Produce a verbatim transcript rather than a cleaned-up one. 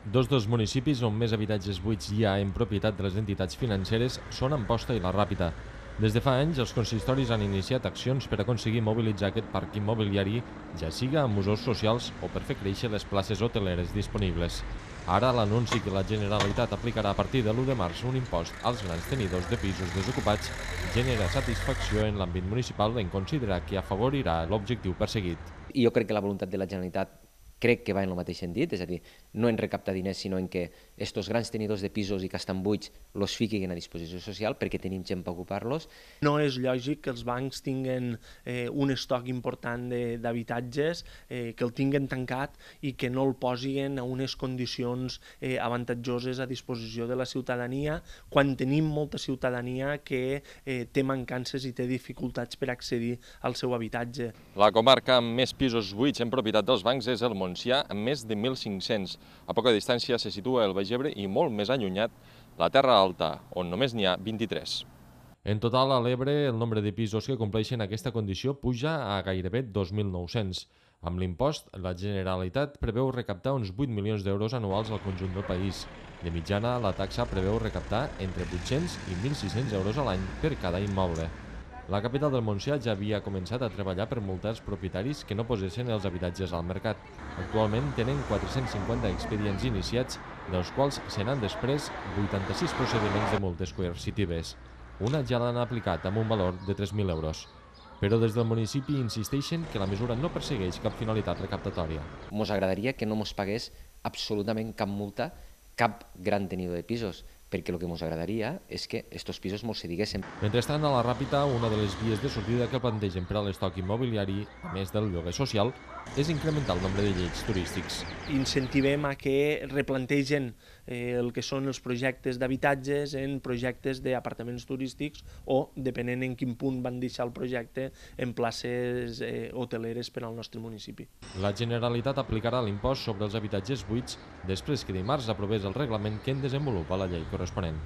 Dos dels municipis on més habitatges buits hi ha en propietat de les entitats financeres són Amposta i la Ràpita. Des de fa anys, els consistoris han iniciat accions per aconseguir mobilitzar aquest parc immobiliari, ja siga amb usos socials o per fer créixer les places hoteleres disponibles. Ara l'anunci que la Generalitat aplicarà a partir de l'u de març un impost als grans tenidors de pisos desocupats genera satisfacció en l'àmbit municipal en considerar que afavorirà l'objectiu perseguit. I jo crec que la voluntat de la Generalitat crec que va en el mateix sentit, és a dir, no en recaptar diners, sinó en que aquests grans tenidors de pisos i que estan buits els fiquin a disposició social perquè tenim gent per ocupar-los. No és lògic que els bancs tinguen eh, un estoc important d'habitatges, eh, que el tinguen tancat i que no el posin a unes condicions eh, avantatjoses a disposició de la ciutadania, quan tenim molta ciutadania que eh, té mancances i té dificultats per accedir al seu habitatge. La comarca amb més pisos buits en propietat dels bancs és el Montsià, amb més de mil cinc-cents. A poca distància se situa el Baix Ebre i molt més allunyat la Terra Alta, on només n'hi ha vint-i-tres. En total, a l'Ebre, el nombre de pisos que compleixen aquesta condició puja a gairebé dos mil nou-cents. Amb l'impost, la Generalitat preveu recaptar uns vuit milions d'euros anuals al conjunt del país. De mitjana, la taxa preveu recaptar entre vuit-cents i mil sis-cents euros a l'any per cada immoble. La capital del Montsià ja havia començat a treballar per multar els propietaris que no posessin els habitatges al mercat. Actualment tenen quatre-cents cinquanta expedients iniciats, dels quals se n'han després vuitanta-sis procediments de multes coercitives. Una ja l'han aplicat amb un valor de tres mil euros. Però des del municipi insisteixen que la mesura no persegueix cap finalitat recaptatòria. Ens agradaria que no ens pagués absolutament cap multa cap gran tenidor de pisos, perquè el que ens agradaria és que aquests pisos ens cediguessin. Mentrestant, a la Ràpita, una de les vies de sortida que plantegen per a l'estoc immobiliari, a més del lloguer social, és incrementar el nombre de llets turístics. Incentivem a que replantegen eh, el que són els projectes d'habitatges en projectes d'apartaments turístics o, depenent en quin punt van deixar el projecte, en places eh, hoteleres per al nostre municipi. La Generalitat aplicarà l'impost sobre els habitatges buits després que dimarts aprovés el reglament que en desenvolupa la llei corresponent.